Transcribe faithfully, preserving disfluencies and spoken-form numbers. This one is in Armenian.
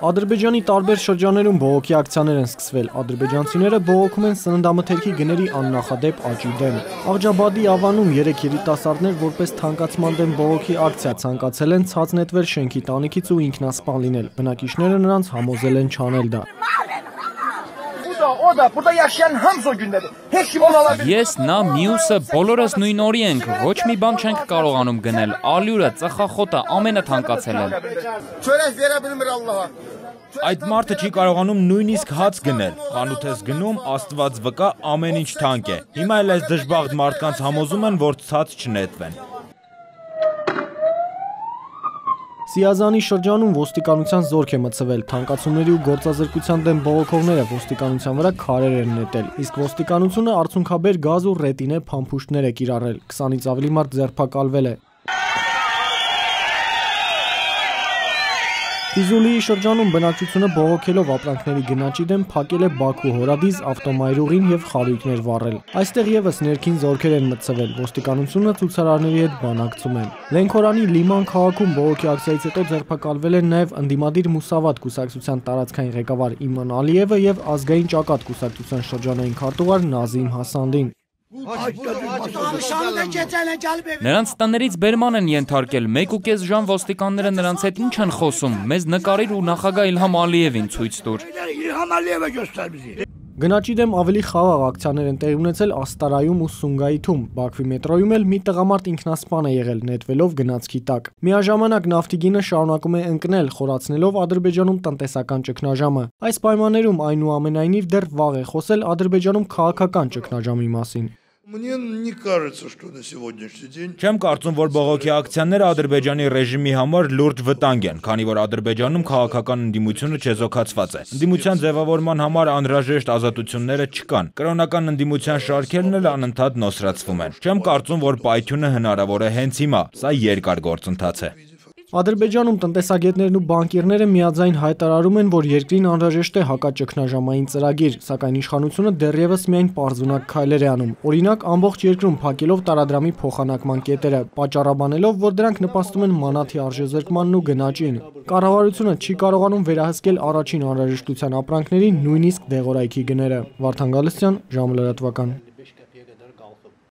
Ադրբեջանի տարբեր շրջաններում բողոքի ակցիաներ են սկսվել։ Ադրբեջանցիները բողոքում են սննդամթերքի գների աննախադեպ աճի դեմ։ Աղջաբադի Ավանում երեք երիտասարդներ որպես թանկացման դեմ բողոքի ակցիա ցանկացել են ցած նետվել շենքի տանիքից ու ինքնասպան լինել։ Բնակիչները նրանց համոզել են չանել դա։ Ես նա մյուսը բոլորս նույն օրի ենք, ոչ մի բան չենք կարողանում գնել, ալյուրը, ծխախոտը, ամենը թանկացել են։ Այդ մարդը չի կարողանում նույնիսկ հաց գնել, խանութ ես գնում, Աստված վկա, ամեն ինչ թանկ է։ Հիմա էլ այս դժբախտ մարդկանց համոզում են, որ ցած չնետվեն։ Սիազանի շրջանում ոստիկանության զորք է մտցվել, թանկացումների ու գործազրկության դեմ բողոքողները ոստիկանության վրա քարեր են նետել, իսկ ոստիկանությունը արցունքաբեր գազ ու ռետինե փամփուշտներ է կիրառել, քսանից ավելի մարդ ձերբակալվել է։ Ֆիզուլիի շրջանում բնակչությունը բողոքելով ապրանքների գնաճի դեմ փակել է Բաքու հորադիզ ավտոմայրուղին եւ խարույկներ վառել։ Այստեղ եւս ներքին զորքեր են մտցվել, ոստիկանությունը ցուցարարների հետ բանակցում են։ Լենքորանի Լիման քաղաքում բողոքի ակցիայից հետո ձերբակալվել են նաեւ ընդդիմադիր Մուսավատ կուսակցության տարածքային ղեկավար Իման Ալիևը եւ ազգային ճակատ կուսակցության շրջանային քարտուղար Նազիմ Հասանդին։ Նրանց տներից բերման են ենթարկել, մեկ ու կես ժամ ոստիկանները նրանց հետ ինչ են խոսում, մեզ նկարիր ու նախագահ Իլհամ Ալիևին ցույց տուր։ Գնաճի դեմ ավելի խաղաղ ակցիաներ են տեղի ունեցել Աստարայում ու Սունգայիթում, Բաքվի մետրոյում էլ մի տղամարդ ինքնասպան է եղել նետվելով գնացքի տակ։ Միաժամանակ նավթիգինը շարունակում է ընկնել, խորացնելով Ադրբեջանում տնտեսական ճգնաժամը։ Այս պայմաններում այնուամենայնիվ դեռ վաղ է խոսել Ադրբեջանում քաղաքական ճգնաժամի մասին։ Չեմ կարծում, որ բողոքի ակցիաները Ադրբեջանի ռեժիմի համար լուրջ վտանգ են, քանի որ Ադրբեջանում քաղաքական ընդդիմությունը չեզոքացված է։ Ընդդիմության ձևավորման համար անհրաժեշտ ազատությունները չկան։ Կրոնական ընդդիմության շարքերն էլ անընդհատ նոսրացվում են։ Չեմ կարծում, որ պայթյունը հնարավոր է հենց հիմա։ Սա երկար գործընթաց է։ Ադրբեջանում տնտեսագետներն ու բանկիրները միաձայն հայտարարում են, որ երկրին անհրաժեշտ է հակաճգնաժամային ծրագիր, սակայն իշխանությունը դեռևս միայն պարզունակ քայլեր է անում։ Օրինակ, ամբողջ երկրում փակելով տարադրամի փոխանակման կետերը, պատճառաբանելով, որ դրանք նպաստում են մանաթի արժեզրկմանն ու գնաճին։ Կառավարությունը չի կարողանում վերահսկել առաջին անհրաժեշտության ապրանքների նույնիսկ դեղորայքի գները։ Վարդան Գալստյան, ժամը լրատվական։